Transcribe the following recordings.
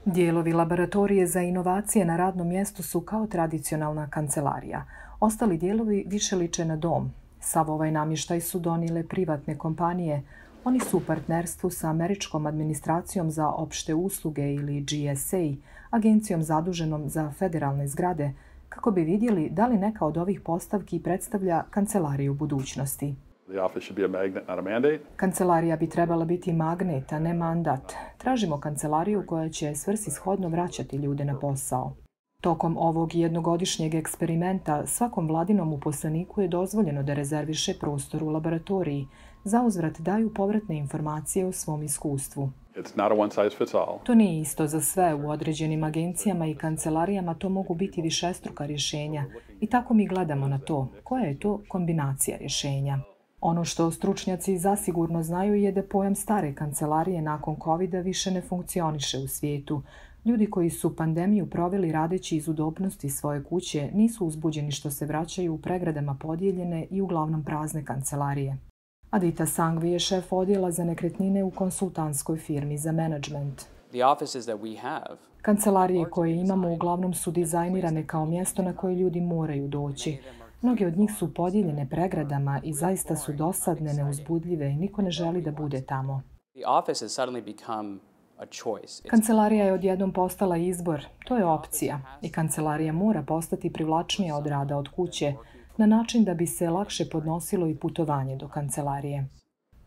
Dijelovi laboratorije za inovacije na radnom mjestu su kao tradicionalna kancelarija. Ostali dijelovi više liče na dom. Sav ovaj namještaj su donijele privatne kompanije. Oni su u partnerstvu sa Američkom administracijom za opšte usluge ili GSA, agencijom zaduženom za federalne zgrade, kako bi vidjeli da li neka od ovih postavki predstavlja kancelariju budućnosti. Kancelarija bi trebala biti magnet, a ne mandat. Tražimo kancelariju koja će svrsishodno vraćati ljude na posao. Tokom ovog jednogodišnjeg eksperimenta svakom vladinom uposleniku je dozvoljeno da rezerviše prostor u laboratoriji. Zauzvrat daju povratne informacije o svom iskustvu. To nije isto za sve. U određenim agencijama i kancelarijama to mogu biti višestruka rješenja. I tako mi gledamo na to. Koja je to kombinacija rješenja? Ono što stručnjaci zasigurno znaju je da pojam stare kancelarije nakon COVID-a više ne funkcioniše u svijetu. Ljudi koji su pandemiju proveli radeći iz udobnosti svoje kuće nisu uzbuđeni što se vraćaju u pregradama podijeljene i uglavnom prazne kancelarije. Adita Sangvi je šef odjela za nekretnine u konsultantskoj firmi za menadžment. Kancelarije koje imamo uglavnom su dizajnirane kao mjesto na koje ljudi moraju doći. Mnoge od njih su podijeljene pregradama i zaista su dosadne, neuzbudljive i niko ne želi da bude tamo. Kancelarija je odjednom postala izbor. To je opcija. I kancelarija mora postati privlačnija od rada od kuće, na način da bi se lakše podnosilo i putovanje do kancelarije.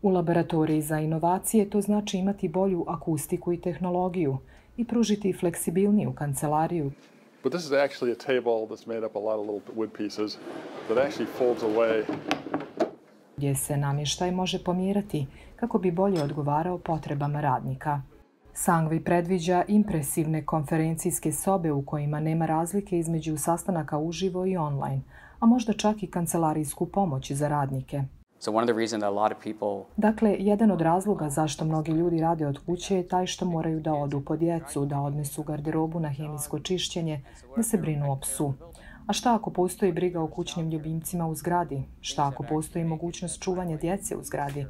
U laboratoriji za inovacije to znači imati bolju akustiku i tehnologiju i pružiti fleksibilniju kancelariju. But this is actually a table that's made up a lot of little wood pieces that actually folds away. Gdje se namještaj može pomjerati kako bi bolje odgovarao potrebama radnika. Sangvi predviđa impresivne konferencijske sobe u kojima nema razlike između sastanaka uživo i online, a možda čak i kancelarijsku pomoć za radnike. Dakle, jedan od razloga zašto mnogi ljudi rade od kuće je taj što moraju da odu po djecu, da odnesu garderobu na hemijsko čišćenje, da se brinu o psu. A šta ako postoji briga o kućnim ljubimcima u zgradi? Šta ako postoji mogućnost čuvanja djece u zgradi?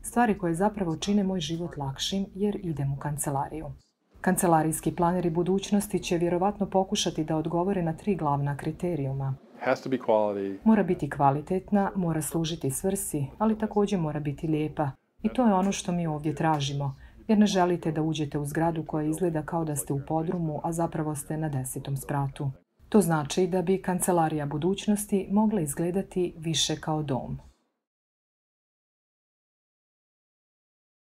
Stvari koje zapravo čine moj život lakšim jer idem u kancelariju. Kancelarijski planeri budućnosti će vjerovatno pokušati da odgovore na 3 glavna kriterijuma. Mora biti kvalitetna, mora služiti svrsi, ali također mora biti lijepa. I to je ono što mi ovdje tražimo, jer ne želite da uđete u zgradu koja izgleda kao da ste u podrumu, a zapravo ste na 10. spratu. To znači da bi kancelarija budućnosti mogla izgledati više kao dom.